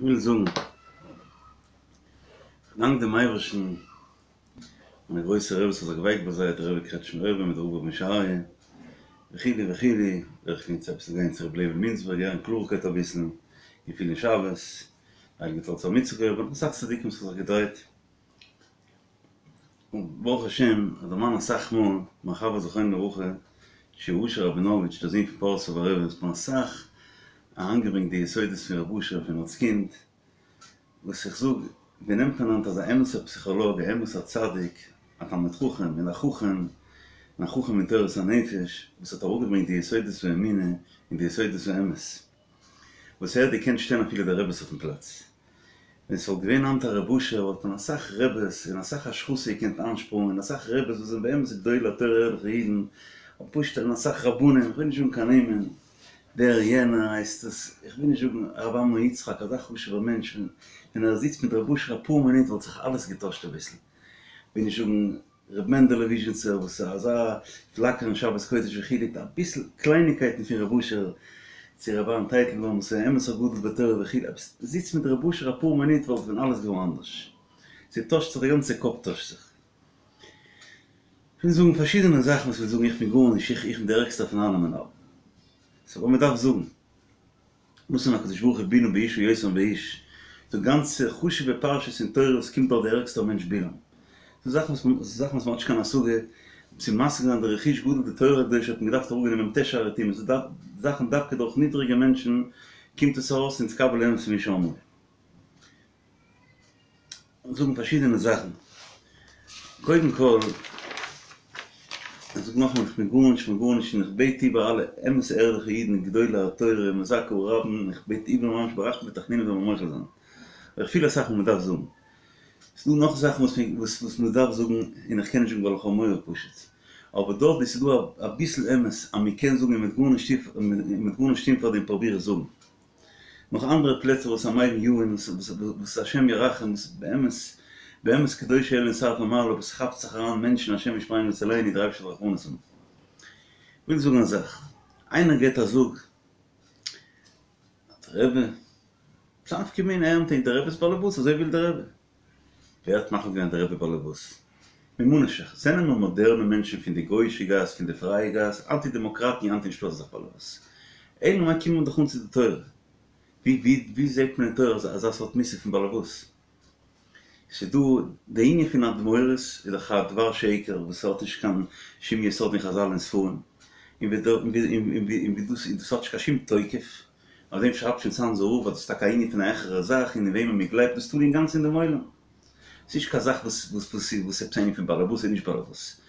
איך וויל זאגן, כ'דאנק דעם אייבערשטן, מיינע גרויסע רביס האט זיך געווייקט ביי זיי, דער רבי קרעטשמער רבי מיט דער רב רבי משה אריה, וכו' וכו', דורך גיין צו אביסל גיין צו רבי לייבל מינצבערג הערן קלארקייט אביסל, געפילן שבת, הייליגע תולדות אברהם יצחק רבי, אסאך צדיקים וואס האט זיך געדרייט. און ברוך השם, איך דערמאן אסאך מאל, מיין חבר זכרונו לברכה, שי' אשר ראבינאוויטש, דער זון פון פאריסאווער רבי, האט מיר אסאך אריינגעברענגט די יסודות פון רב אשר פון אלס קינד, וואס איך זאג, ווי נעמט מען היינט אזא אמת'ער פסיכאלאג, א אמת'ער צדיק, א תלמיד חכם, און א חכם, און א חכם אין תורת הנפש, וואס האט אראפגעברענגט די יסודות האמונה און די יסודות האמת. וואס ער האט געקענט שטעלן אפילו די רעבעס אויפן פלאץ. ווען ס'וואלט געווען היינט א רב אשר וואלט מען אסאך רעבעס און אסאך השחתה געקענט איינשפארן און אסאך רעבעס וואס זענען באמת גדולי התורה ערליכע אידן און פשוט און אסאך רבנים איך וויל נישט זאגן קיין נעמען דער יענער הייסט עס איך וויל נישט זאגן הרב אמנון יצחק אזא חשובער מענטש ווען ער זיצט מיט רב אשר אפאר מינוט וואלט זיך אלעס געטוישט אביסל כ'וויל נישט זאגן ר' מענדעלע וויזשניצער וואס איז אזא פלאקערן שבת קודש וכו' אביסל קלייניקייטן פון רב אשר צו ר' אהרן טייטלבוים וואס איז אמת א גדול בתורה וכו' אביסל זיצט מיט רב אשר אפאר מינוט וואלט ווען אלעס געווארן אנדערש ס'טוישט זיך די גאנצע קאפ טוישט זיך. כ'וויל זאגן פארשידענע זאכן וואס כ'וויל זאגן איך בין גארנישט איך בין די ערגסטער פון אלעמען אבער ס'אבער מ'דארף זאגן. נתן הקדוש ברוך הוא בלעם באשה יותר מבאיש, ס'דא גאנצע חשוב'ע פרשות אין תורה וואס קומט דורך די ערגסטער מענטש בלעם. ס'דא זאכן וואס מען זאכן וואס מען האט נישט קיין השגה, צו משיג זיין די רכוש גדול די תורה הקדושה האט מען געדארפט אראפגיין אין מ"ט שערי טומאה, ס'דא זאכן דווקא דורך נידריגע מענטשן קומט עס ארויס נתקבל האמת ממי שאמרו. זאגן פארשידענע זאכן, קודם כל, איך זאג נאכאמאל איך בין גארנישט פון גארנישט און איך בעט איבער אלע אמת'ע ערליכע אידן גדולי התורה מזכה הרבים איך בעט איבער ממש ברחמים ותחנונים זאל מען מוחל זיין, אבער איך פיל אסאך וואס מען דארף זאגן, ס'איז דא נאך זאכן וואס וואס מען דארף זאגן און איך קען נישט זאגן ווייל איך האב מורא פשוט, אבער דארט ווי ס'איז דא אביסל אמת אז מען קען זאגן און מען וועט גארנישט טון פאר דעם פרוביר איך זאגן. נאך אנדערע פלעצער וואס המבין יבין וואס השם ירחם וואס באמת באמת קדושי עליון שרפי מעלה וואס כאפט זיך אריין מענטשן השם ישמרינו ויצילנו דער אייבערשטער זאל רחמנות האבן. כ'וויל זאגן א זאך, איינער געט א זאג אז דער רבי, וואס א נפקא מינה ער נעמט דער רבי איז באלעבאס אזוי וויל דער רבי. ווער האט מחליט געווען אז דער רבי באלעבאס? ממה נפשך, זענען מיר מאדערנע מענטשן פון די גויאישע גאס, פון די פרייע גאס, אנטי דעמאקראטן, אנטי נישטא אזא זאך באלעבאס. אלא מאי קומט מען דאך אן צו די תורה. ווי ווי ווי זעט מען אין תורה אזא סארט מושג פון באלעבאס? ס'איז דא די ענין פון אדמורות איז דאך א דבר שקר וואס האט נישט קיין שום יסוד אין חזל און ספרים, און ווי און ווי דאס האט נישט קיין שום תוקף. אויף דעם שרייבט שוין צאנזער רב אז דאס איז טאקע א ענין פון א העכערע זאך און אין וועמען מען גלייבט דאס תלוי אינגאנצן אין דעם עולם. ס'איז נישט קיין זאך וואס וואס וואס וואס עפעס א ענין פון באלעבאס און נישט באלעבאס.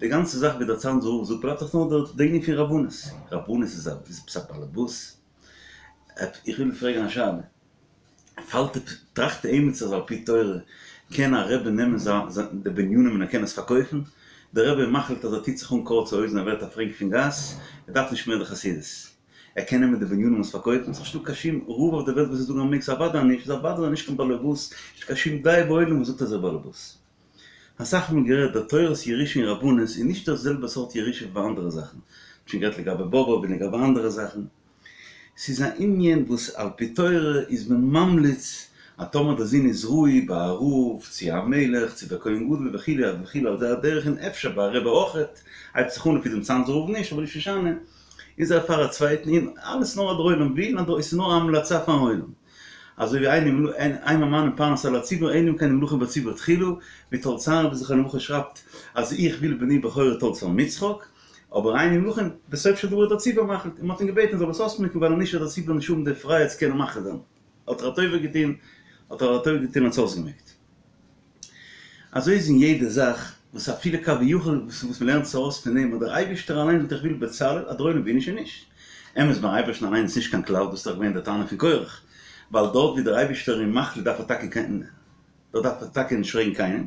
די גאנצע זאך ווי דער צאנזער רב זאגט בלייבט דאך נאר די ענין פון רבנות. רבנות איז א איז עפעס א באלעבאס? איך וויל פרעגן א שאלה. פאלט טראכט עימיצער אז על פי תורה קען א רבי נעמען זיין די בנינים און ער קען עס פארקויפן? דער רבי מחליט אז ער טוט זיך אן קורצע הויזן ער ווערט א פרענק פון גאס, ער דארף נישט מער די חסידות. ער קען נעמען די בנינים און עס פארקויפן, ס'איז נישטא קיין שום רב אויף די וועלט וואס וועט זאגן אז מ'מעג, ס'איז אוודאי נישט, איז אוודאי נישט קיין באלעבאס, נישטא קיין שום דעה בעולם וואס זאגט אז ער איז באלעבאס. אסאך מאל גערעדט, די תורת ירושה אין רבנות איז נישט דאס זעלבע סארט ירושה ווי ביי אנדערע זאכן, מ'האט שוין גערעדט לגבי באבוב און לגבי אנדערע זאכן. ס'איז א ענין וואס על פי תורה איז מען ממליץ אז טאמער די זון איז ראוי ביי א רב צו א מלך צו ביי כהן גדול וכו' וכו' על זה הדרך און אפשר ביי א רבי אויכעט, הייבט זיך אן לפי דעם צאנזער רב נישט אבער נישט משנה, איז ער פאר א צווייטן און אלעס נאר אז דער עולם וויל און עס איז נאר א המלצה פארן עולם. אזוי ווי אין אין ממנין פרנס על הציבור אלא אם כן נמלכין בציבור תחילה, ווי תולדות אהרן זכרונו לברכה שרייבט אז איך וויל בני בכורי תולדות אברהם יצחק, אבער אין נמלכין בסוף של דבר איז דער ציבור מחליט, און מען האט אים געבעטן ער זאל עס אויסמעקן ווייל אנישט וועט דער ציבור נישט האבן די פרייהייט צו קענען מחליט זיין. האט ער א טובה געטון, האט ער א טובה געטון און עס אויסגעמעקט. אזוי איז אין יעדע זאך, וואס אפילו כביכול וואס וואס מ'לערנט עס ארויס פון דעם אז דער אייבערשטער אליין זאגט איך וויל בצלאל, אז דער עולם וויל נישט איז נישט. אמת ביים אייבערשטן אליין איז נישט קיין כלל, דאס איז דאך געווען די טענה פון קורח, ווייל דארט ווי דער אייבערשטער איז מחליט דארף ער טאקע קיין דארט דארף ער טאקע נישט פרעגן קיינעם,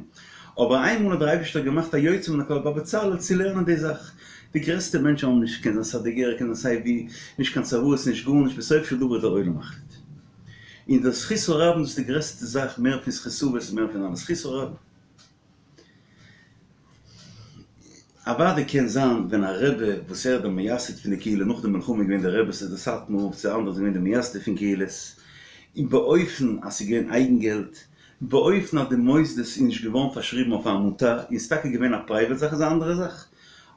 אבער איינמאל האט דער אייבערשטער געמאכט א יוצא מן הכלל ביי בצלאל צו לערנען די זאך. די גרעסטע מענטשן האבן נישט, קען זיין סאדיגערע, קען זיין סיי ווי, נישט קיין צוואות, נישט גארנישט, בסוף של דבר איז דער עולם מחליט. און דער זכות הרבים דאס איז די גרעסטע זאך מער פון זכות אבות און מער פון אלעס, זכות הרבים. אוודאי קען זיין ווען א רבי וואס ער איז דער מייסד פון די קהילה נאך די מלחמה איז געווען די רבי ס'איז די סאטמאר רב צו אנדערע זענען געווען די מייסדים פון קהילות. און באופן אז ס'איז געווען אייגן געלט, באופן אז די מוסדות איז נישט געווארן פארשריבן אויף א עמותה, און ס'איז טאקע געווען א פרייוועט זאך איז א אנדערע זאך,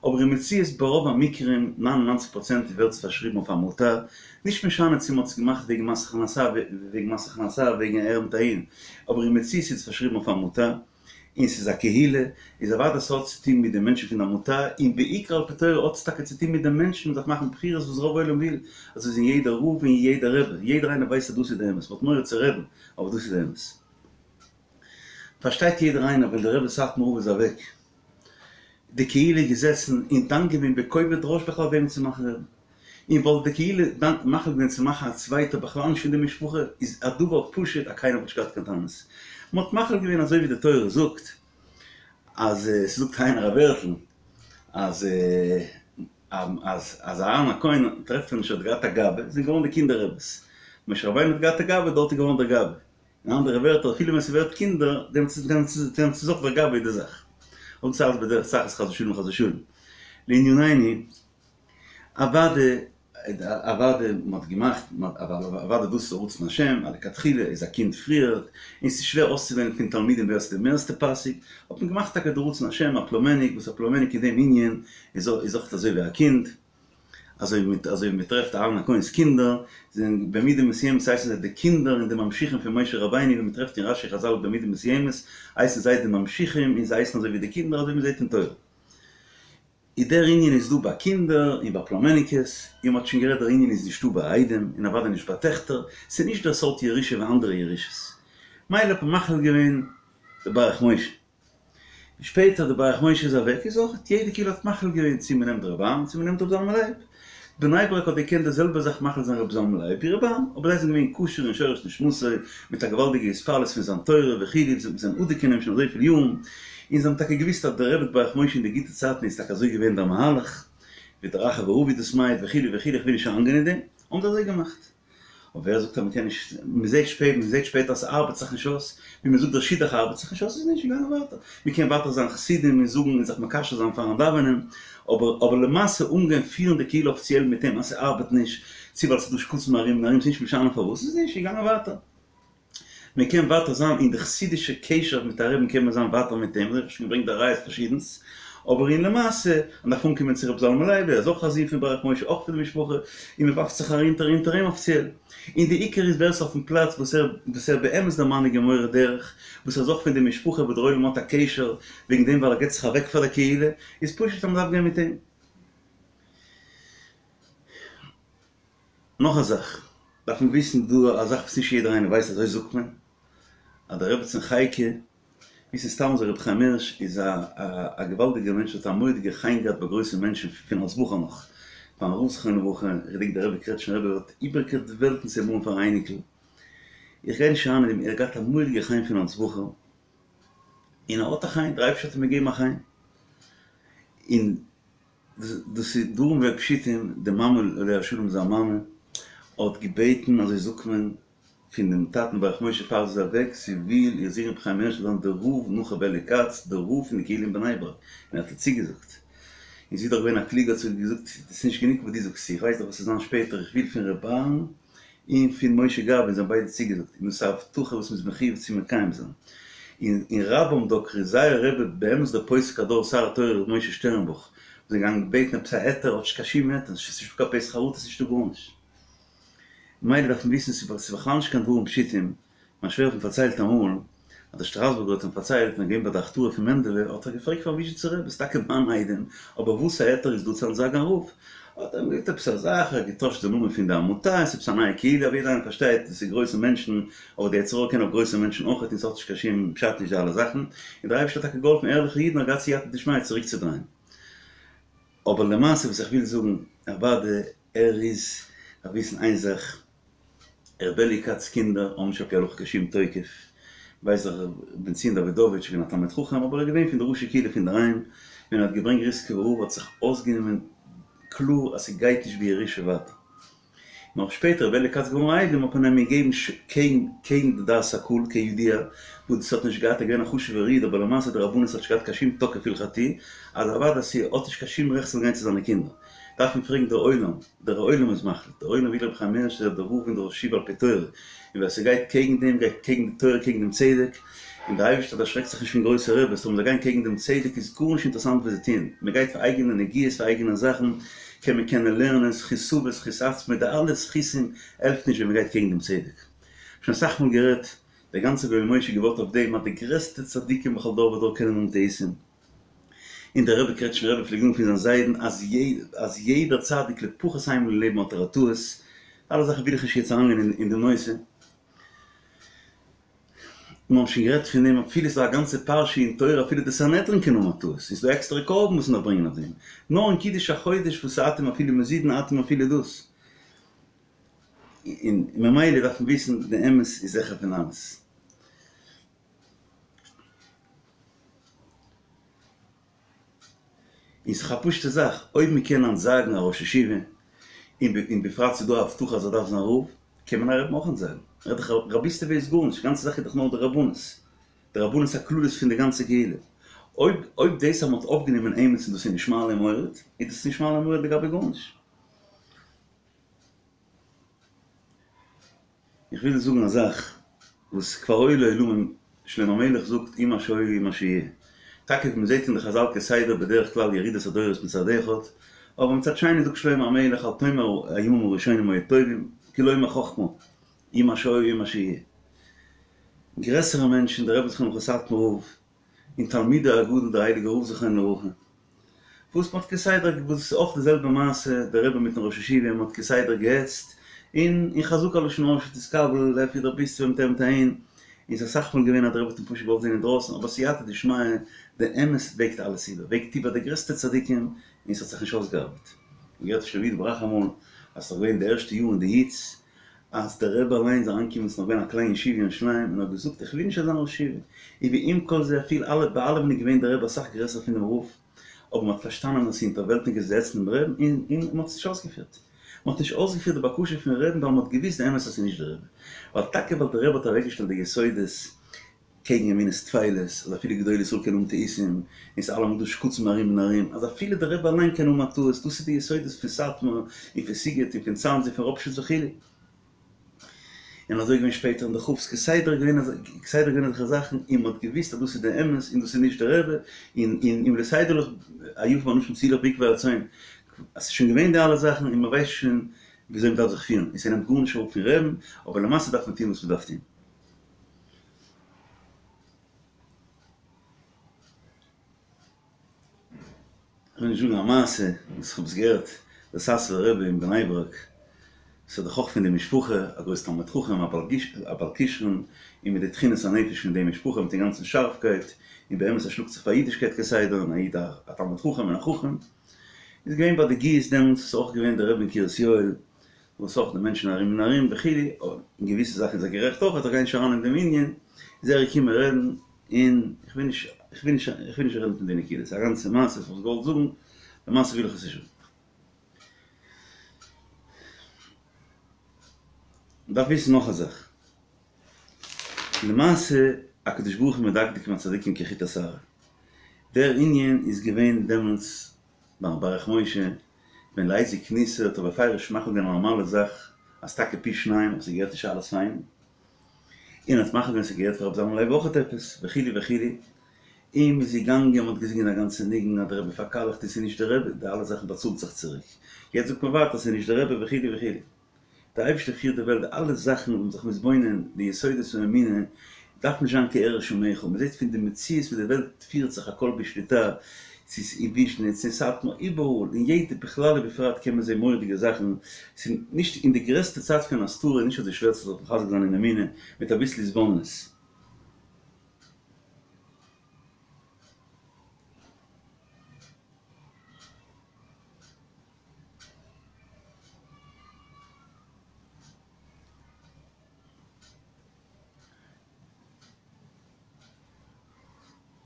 אבער אין מציאות ברוב המקרים, 99 פראצענט ווערט עס פארשריבן אויף א עמותה, נישט משנה צו מ'האט עס געמאכט וועגן מס הכנסה וועגן מס הכנסה וועגן אהער מיט אהין, אבער אין מציאות איז עס פארשריבן אויף א עמותה, און ס'איז א קהילה, איז אוודאי ס'האט צוטון מיט די מענטשן פון די עמותה, און בעיקר על פי תורה האט עס טאקע צוטון מיט די מענטשן, מ'דארף מאכן בחירות וואס רוב עולם וויל, אזוי איז אין יעדע רב און יעדע רבי, יעדער איינער ווייסט אז דאס איז די אמת, מ'האט מורא צו רעדן, אבער דאס איז די אמת. פארשטייט יעדער איינער ווען דער רבי סאטמאר רב איז אוועק, די קהילה איז געזעסן און דן געווען בכובד ראש בכלל וועמען צו מאכן רבי, און וואלט די קהילה דן מחליט געווען צו מאכן א צווייטער בכלל נישט פון די משפחה, איז א דבר פשוט אז קיינער וואלט נישט געהאט קיין טענות. מען האט מחליט געווען אזוי ווי די תורה זאגט, אז ס'זאגט איינער א ווערטל אז אז אז אהרן הכהן טרעפט מען נישט האט געהאט א גבאי, זענען געווארן די קינדער רעבעס. משה רבינו האט געהאט א גבאי, דארט איז געווארן דער גבאי. אין אנדערע ווערטער אפילו ווען ס'ווערט קינדער, דעמאלטס איז אויך דער גבאי די זאך. און ס'איז אלץ בדרך צחות חס ושלום חס ושלום. לענינינו, אוואדע אוואדע מ'האט געמאכט אוואדע דאס איז רצון השם אז לכתחילה איז א קינד פריערט און ס'איז שווער אויסצואוועלן פון תלמידים ווער ס'איז די מערסטע פאסיג האט מען געמאכט טאקע די רצון השם א פלומעניק וואס א פלומעניק אין דעם ענין איז אויך אזוי ווי א קינד אזוי ווי אזוי ווי מ'טרעפט אהרן הכהן'ס קינדער זענען במידה מסוימת הייסן זיי די קינדער און די ממשיכים פון משה רבינו ווי מ'טרעפט אין רש"י חז"ל במידה מסוימת הייסן זיי די ממשיכים און זיי הייסן אזוי ווי די קינדער אזוי ווי מ'זעט אין תורה. איז דער ענין איז דא ביי קינדער און ביי פלומעניקעס, און מ'האט שוין גערעדט דער ענין איז נישטא ביי איידעם און אוודאי נישט ביי טעכטער, ס'איז נישט דער סארט ירושה ווי אנדערע ירושות. מילא האט מען מחליט געווען די ברך משה. ווי שפעטער די ברך משה איז אוועק איז אויך יעדע קהילה האט מחליט געווען צו מ'נעמט ר' אהרן צו מ'נעמט ר' זלמן לייב. בני ברק האט געקענט די זעלבע זאך מחליט זיין ר' זלמן לייב ווי ר' אהרן, אבער זיי זענען געווען קשור אין שורש נשמתו, מיט א געוואלדיגע התפעלות פון זיין תורה וכו', זיי זענען אדוק אין אים שוין אזויפיל יארן, און זיי האבן טאקע געוואוסט אז דער רבי ברך משה אין די גוטע צייטן איז טאקע אזוי געווען דער מהלך, ווי דער אחא ורבא דאס מעיד וכו' וכו', איך וויל נישט אריינגיין אין דעם, האבן זיי אזוי געמאכט. אבער ווער זאגט אז מען קען נישט, מען זעט שפעט, מען זעט שפעטער אז ס'ארבעט זיך נישט אויס, ווי מען זאגט דער שידוך ארבעט זיך נישט אויס איז נישט געגאנגען ווייטער, מען קען ווייטער זיין חסידים און זאגן און זיך מקשר זיין פארן דאווענען, אבער אבער למעשה אנגיין פירן די קהילה אפיציעל מיט אים אז ס'ארבעט נישט, צו ווייל ס'איז דא שקצים ארום און ארום ס'נישט משנה פארוואס, איז נישט געגאנגען ווייטער. מען קען ווייטער זיין אין די חסידישע קשר מיט א רבי'ן קען מען זיין ווייטער מיט אים, אזוי האב איך שוין געברענגט די ראיות פארשידענס, אבער אין למעשה מען דארף אנקומען צו רבי זלמן לייב, ער איז אויך א זון פון ברך משה אויך פון די משפחה, און מען ווארפט זיך ארונטער אונטער אים אפיציעל, און די עיקר איז ווער ס'איז אויפן פלאץ וואס ער וואס ער באמת דער מנהיג און מורה דרך, וואס ער איז אויך פון די משפחה וואס דער עולם האט א קשר וועגן דעם ווייל ער געבט זיך אוועק פאר די קהילה, איז פשוט אז מען דארף גיין מיט אים. נאך א זאך דארף מען וויסן דא א זאך וואס נישט יעדער איינער ווייסט אזוי זאגט מען אז די רעבעצין חייקה וויסן סתם אזוי רבי חיים הערש איז א א געוואלדיגער מענטש האט א מורא'דיגע חן געהאט ביי גרויסע מענטשן פון אלס בחור נאך ביים רב זכרונו לברכה איך געדענק דער רבי קרעטשנער רבי האט איבערגעקערט די וועלטן צו אים האבן פאר א אייניקל איך גיי נישט אריין אין דעם ער האט געהאט א מורא'דיגע חן פון אלס בחור און ער האט א חן דער אייבערשטער האט אים געגעבן א חן און דאס איז דברים פשוטים, די מאמע עליה השלום זיין מאמע האט געבעטן אזוי זאגט מען פון דעם טאטן ברך משה פאר זי איז אוועק, זי וויל איר זון רבי חיים הערש זאל זיין דער רב נאך רבי אלי' כץ דער רב פון די קהילה אין בני ברק, און ער האט איר צוגעזאגט, און זי איז דאך געווען א קלוגע האט זי געזאגט דאס איז נישט גענוג וואס דו זאגסט צו, איך ווייס דאך וואס וועט זיין שפעטער, איך וויל פון רבי אהרן און פון משה גבאי און זיי האבן ביידע צוגעזאגט, און דאס איז א הבטחה וואס מ'איז מחויב צו מקיים זיין. און און רבם דקרו זייער רבי באמת דער פוסק הדור שר התורה ר' משה שטערנבוך, זיי זענען געגאנגען בעטן עפעס א היתר, האט נישט קיין שום היתר, ס'איז נישטא קיין פתח חרטה, ס'איז נישטא גארנישט. ממילא דארף מען וויסן ס'איז בכלל נישט קיין דברים פשוטים, מיין שווער האט מיר פארציילט אמאל, אז דער שטראסבורגער האט אים פארציילט, ווען ער איז געווען ביי די הכתרה פון מענדעלע, האט ער געפרעגט פארן וויזשניצער רבי, ס'איז טאקע מיין איידעם, אבער וואס א היתר איז דא צו אנטזאגן א רב? האט ער אים געזאגט עפעס א זאך, ער האט געטוישט די נאמען פון די עמותה, עס איז עפעס א נייע קהילה, אבער יעדער איינער פארשטייט, דאס איז גרויסע מענטשן, אבער די יצר הרע קען אויף גרויסע מענטשן אויכעט, און ס'האט נישט קיין שום פשט נישט די אלע זאכן, און דער אייבערשטער האט טאקע געהאלפן ערליכע אידן האט געהאט סייעתא דשמיא צוריקצודרייען. אבער למעשה וואס איך וויל זאגן, אוודאי ער איז, דארף וויסן איין זאך, ר' אלי' כץ קינדער האבן נישט על פי הלכה קיין שום תוקף, ווייס איך ר' בן ציון דאווידאוויטש איז געווען א תלמיד חכם אבער ער איז געווען פון די ראשי קהילה פון דערהיים, ווען ער האט געברענגט ריסקעווער רב האט זיך אויסגענומען קלאר אז ס'גייט נישט בירושה ווייטער. נאך שפעטער ר' אלי' כץ געווארן איידעם האט מען אים געגעבן קעגן קעגן די דעת הקהל כידוע וואס דאס האט נישט געהאט ער איז געווען א חשובער איד אבער למעשה די רבנות האט נישט געהאט קיין שום תוקף הלכתי אז אוודאי ס'האט נישט קיין שום רעכט ס'זאל גיין צו זיינע קינדער. דארף מען פרעגן דער עולם, דער עולם איז מחליט, דער עולם וויל רבי חיים הערש זאל דער רב און דער ראש ישיבה על פי תורה, און ווער ס'גייט קעגן דעם גייט קעגן די תורה קעגן דעם צדק, און דער אייבערשטער דערשרעקט זיך נישט פון גרויסע רעבעס, אויב זיי גייען קעגן דעם צדק איז גארנישט אינטערעסאנט וואס זיי טוען, מען גייט פאר אייגענע נגיעות פאר אייגענע זאכן, קען מען קענען לערנען זכות אבות זכות עצמו די אלע זכותים העלפט נישט ווען מען גייט קעגן דעם צדק. שוין אסאך מאל גערעדט, דער גאנצער ויואל משה געבויט אויף דעם אז די גרעסטע צדיקים בכל דור ודור קענען האבן טעותים, און דער רבי קרעטשניפער רבי פלעגט זאגן פון זיין זיידן אז אז יעדער צדיק לפחות איינמאל אין לעבן האט ער א טעות, אלע זאכן וויל איך נישט יעצט אריינגיין אין דעם נושא. מיר האבן שוין גערעדט פון דעם אפילו ס'איז דא א גאנצע פרשה אין תורה אפילו די סנהדרין קען האבן א טעות, און ס'איז דא עקסטערע קרבן וואס מ'דארף ברענגען אויף דעם, נאר אין קידוש החודש וואס אתם אפילו מזידין אתם אפילו דאס. און ממילא דארף מען וויסן די אמת איז העכער פון אלעס. און ס'איז א פשוטע זאך, אויב מ'קען אנטזאגן א ראש ישיבה, און בפרט ס'איז דא א הבטחה אז ער דארף זיין רב, קען מען א רבי'ן אויך אנטזאגן. רעד איך רביסטעווע איז גארנישט, די גאנצע זאך איז דאך נאר די רבנות, די רבנות הכללית פון די גאנצע קהילה. אויב אויב דאס אז מ'האט אויפגענומען עימיצן דאס איז נישט מעלה ומוריד, איז דאס נישט מעלה ומוריד לגבי גארנישט. איך וויל זאגן א זאך וואס כבר היו לעולמים, שלמה המלך זאגט הוא מה שהיה הוא מה שיהיה. טאקע ווי מ'זעט אין די חזל כסדר בדרך כלל ירידת הדורות מצד אחד, אבער מצד שני זאגט שלמה המלך אל תאמר הימים הראשונים היו טובים, כי לא מחכמה, הוא מה שהיה הוא מה שיהיה. גרעסערע מענטשן, דער רבי זכרונו לברכה סאטמאר רב, און תלמידו הגדול דער הייליגער רב זכרונו לברכה, וואס מ'האט כסדר, וואס איז אויך די זעלבע מעשה, דער רבי מיטן ראש ישיבה, מ'האט כסדר געהעצט, און און חזקה על לשון הרע שתתקבל, לפי די רביסטעווע מיט אים מיט אהין, און ס'איז אסאך מאל געווען אז דער רבי האט אים פשוט געוואלט זען אינדרויסן, אבער סייעתא דשמיא, די אמת וועגט אלעס איבער, וועגט איבער די גרעסטע צדיקים, און ס'האט זיך נישט אויסגעארבעט. און געהערט פון שלמה יודא בראך אמאל, אז ס'איז נאך געווען די ערשטע יאר אין די היץ, אז דער רבי אליין איז אריינגעקומען, ס'איז נאך געווען א קליין ישיבה אין ירושלים, און האט געזאגט איך וויל נישט אזא ראש ישיבה, און ועם כל זה אפילו אלע ביי אלעמען איז געווען דער רבי אסאך גרעסער פון דעם רב, אבער מ'האט פארשטאנען אז ס'איז אונטערוועלטניקעס זיי העצן דעם רעבן, און און מ'האט עס נישט אויסגעפירט. מ'האט נישט אויסגעפירט די בקשה פון רעבן ווייל מ'האט געוויסט די אמת אז ס'איז נישט דער רבי. ווייל טאקע ווייל דער רבי האט אוועקגעשטעלט די יסודות קעגן אמונות טפלות, אז אפילו גדולי ישראל קענען האבן טעותים, און ס'איז אלעמאל דא שקצים ארום און ארום, אז אפילו דער רבי אליין קען האבן א טעות, דאס איז די יסודות פון סאטמאר, און פון סיגוט, און פון צאנז, און פון ראפשיץ וכו'. און אזוי געווען שפעטער אין די כף'ס, כסדר געווען כסדר געווען אזעלכע זאכן, און מ'האט געוואוסט אז דאס איז די אמת, און דאס איז נישט דער רבי, און און אם לא תדע לך עייפים אנשים צאי לך בעקבי הצאן, אז ס'איז שוין געווען די אלע זאכן, און מ'ווייסט שוין וויאזוי מ'דארף זיך פירן, און ס'נעמט גארנישט אראפ פון רעבן, אבער למעשה דארף מען טון וואס מ'דארף טון. כ'וויל נישט זאגן א מעשה וואס כ'האב עס געהערט, דער סאסובער רבי אין בני ברק, ס'איז דאך אויך פון די משפחה, א גרויס תלמיד חכם, א בעל כשרון, און מיט די תכונות הנפש פון די משפחה, מיט די גאנצן שארפקייט, און באמת ער שלאגט זיך פאר אידישקייט כסדר, און א איד א תלמיד חכם און א חכם, איז געווען ביי די גיוס דעמאלטס, איז אויך געווען דער רבי אין קרית יואל, וואס אויך די מענטשן ארום און ארום וכו', אין געוויסע זאכן איז ער גערעכט אויך, איך גיי נישט אריין אין דעם ענין, איז ער געקומען רעדן, און איך וויל נישט, איך וויל נישט, איך וויל נישט רעדן פון די נקודה, ס'איז א גאנצע מעשה וואס איך האב געוואלט זאגן, למעשה וויל איך עס נישט זאגן. מ'דארף וויסן נאך א זאך, למעשה הקדוש ברוך הוא מדקדק עם הצדיקים כחוט השערה, דער ענין איז געווען דעמאלטס ביים ברך משה, ווען לייזיק ניסער האט ער בפירוש מחליט געווען א נארמאלע זאך אז טאקע פי שניים אבער ס'געהערט נישט אלעס פאר אים, און האט מחליט געווען ס'געהערט פאר רבי זלמן לייב אויכעט עפעס וכו' וכו', און מ'איז געגאנגען מ'האט געזינגען א גאנצע ניגון אז דער רבי פארקאלעכט און ס'איז נישט דער רבי, די אלע זאכן באצאלט זיך צוריק, יעצט זאגט מען ווייטער ס'איז נישט דער רבי וכו' וכו'. דער אייבערשטער פירט די וועלט, די אלע זאכן וואס מ'זיך מתבונן, די יסודות פון אמונה, דארף נישט זיין כערש ומכל, מ'זעט פון די מציאות ווי די וועלט פירט זיך הכל בשליטה, ס'איז אין וויזשניץ, אין סאטמאר, איבעראל, אין יעדע, בכלל ובפרט קען מען זען מורא'דיגע זאכן, ס'איז נישט אין די גרעסטע צייט פון הסתרה איז נישט אזוי שווער צו זיך מחזק זיין אין אמונה מיט אביסל התבוננות.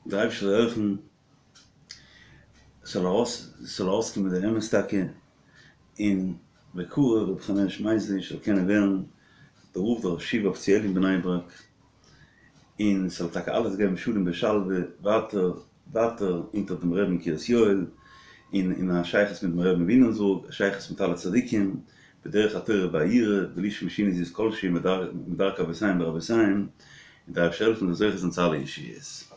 דער אייבערשטער זאל העלפן ס'זאל ארויס ס'זאל ארויסקומען דער אמת טאקע, און בקרוב רבי חיים הערש מייזליש זאל קענען ווערן דער רב דער ראש ישיבה אפיציעל אין בני ברק, און ס'זאל טאקע אלעס גיין בשלום בשלווה ווייטער. ווייטער אונטער דעם רבי'ן אין קרית יואל, און אין א שייכות מיט דעם רבי'ן וויליאמסבורג, א שייכות מיט אלע צדיקים, בדרך התורה והיראה, בלי שום שינוי זיז כלשהי מדרכי אבותיהם ורבותיהם, און דער אייבערשטער העלפן מ'זאל זוכה זיין צו אלע ישועות.